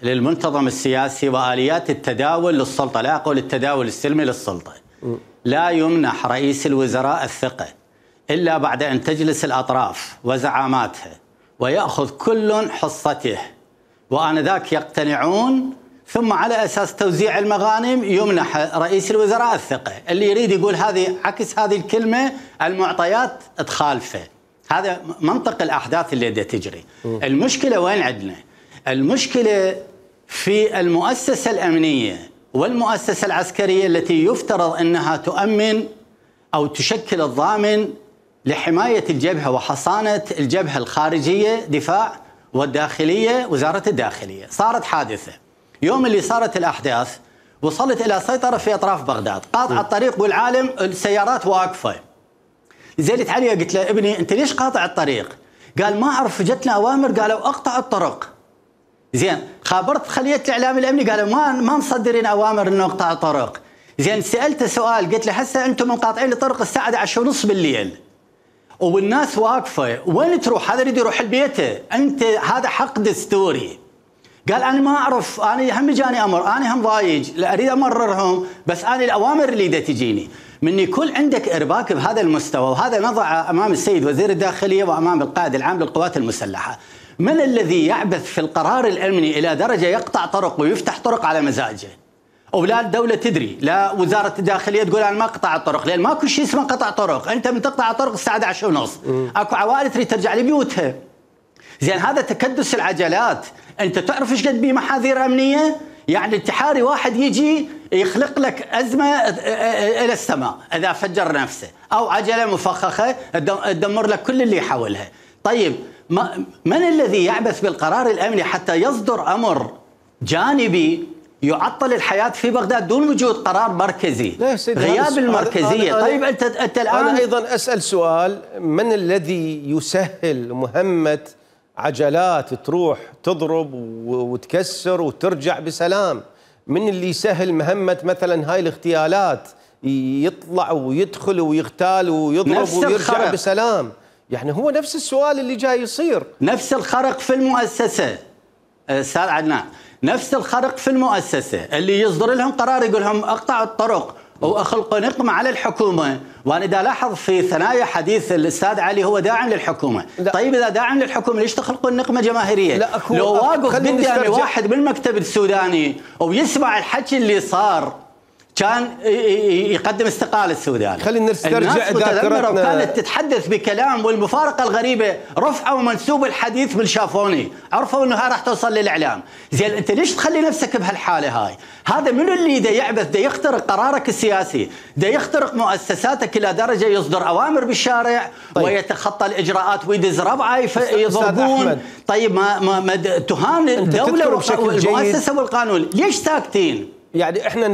للمنتظم السياسي وآليات التداول للسلطة، لا أقول التداول السلمي للسلطة. لا يمنح رئيس الوزراء الثقة إلا بعد أن تجلس الأطراف وزعاماتها ويأخذ كل حصته، وآنذاك يقتنعون، ثم على أساس توزيع المغانم يمنح رئيس الوزراء الثقة. اللي يريد يقول هذه عكس هذه الكلمة، المعطيات تخالفه. هذا منطق الأحداث اللي تجري. المشكلة وين عندنا؟ المشكلة في المؤسسة الأمنية والمؤسسة العسكرية التي يفترض أنها تؤمن أو تشكل الضامن لحماية الجبهة وحصانة الجبهة الخارجية دفاع، والداخلية وزارة الداخلية. صارت حادثة يوم اللي صارت الأحداث، وصلت إلى سيطرة في أطراف بغداد، قاطع الطريق والعالم السيارات واقفة. زيلت علي قلت له ابني أنت ليش قاطع الطريق؟ قال ما أعرف، جتنا أوامر قالوا أقطع الطرق. زين، خابرت خلية الإعلام الأمني قالوا ما مصدرين أوامر إنه أقطع الطرق. زين، سألته سؤال قلت له هسه أنتم منقاطعين الطريق الساعة 11:30 بالليل والناس واقفة، وين تروح؟ هذا يريد يروح لبيته، أنت هذا حق دستوري. قال أنا ما أعرف، أنا هم جاني أمر، أنا هم ضايج، لا أريد أمررهم، بس أنا الأوامر اللي تجيني. من يكون عندك إرباك بهذا المستوى، وهذا نضع أمام السيد وزير الداخلية وأمام القائد العام للقوات المسلحة، من الذي يعبث في القرار الأمني إلى درجة يقطع طرق ويفتح طرق على مزاجه؟ ولا الدولة تدري، لا وزارة الداخلية تقول أنا ما أقطع الطرق، لأن ماكو شيء اسمه قطع طرق، أنت من تقطع الطرق الساعة 11:30 أكو عوائل تريد ترجع لبيوتها. زين، هذا تكدس العجلات. أنت تعرف إيش قد بيه محاذير أمنية؟ يعني انتحاري واحد يجي يخلق لك أزمة إلى السماء إذا فجر نفسه، أو عجلة مفخخة تدمر لك كل اللي حولها. طيب من الذي يعبث بالقرار الأمني حتى يصدر أمر جانبي يعطل الحياة في بغداد دون وجود قرار مركزي؟ غياب المركزية. طيب أنت الآن أنا أيضا أسأل سؤال، من الذي يسهل مهمة عجلات تروح تضرب وتكسر وترجع بسلام؟ من اللي يسهل مهمة مثلا هاي الاغتيالات، يطلع ويدخل ويغتال ويضرب ويرجع بسلام؟ يعني هو نفس السؤال اللي جاي يصير، نفس الخرق في المؤسسة. أستاذ عدنان، نفس الخرق في المؤسسة اللي يصدر لهم قرار يقول لهم اقطعوا الطرق واخلقوا نقمة على الحكومة. وانا دا لاحظ في ثنايا حديث الاستاذ علي هو داعم للحكومة. لا. طيب اذا داعم للحكومة ليش تخلقون نقمة جماهيرية؟ لو واقف قدامي واحد بالمكتب السوداني ويسمع الحكي اللي صار كان يقدم استقالة السودان. خلينا نسترجع ذاكرتنا. وكانت تتحدث بكلام، والمفارقة الغريبة رفعوا منسوب الحديث بالشافوني، عرفوا انه هاي راح توصل للاعلام. زين، انت ليش تخلي نفسك بهالحالة هاي؟ هذا منو اللي دا يعبث، دا يخترق قرارك السياسي، دا يخترق مؤسساتك الى درجة يصدر اوامر بالشارع. طيب. ويتخطى الاجراءات ويدز ربعه يضربون. طيب ما تهان الدولة والمؤسسة والقانون، ليش ساكتين؟ يعني احنا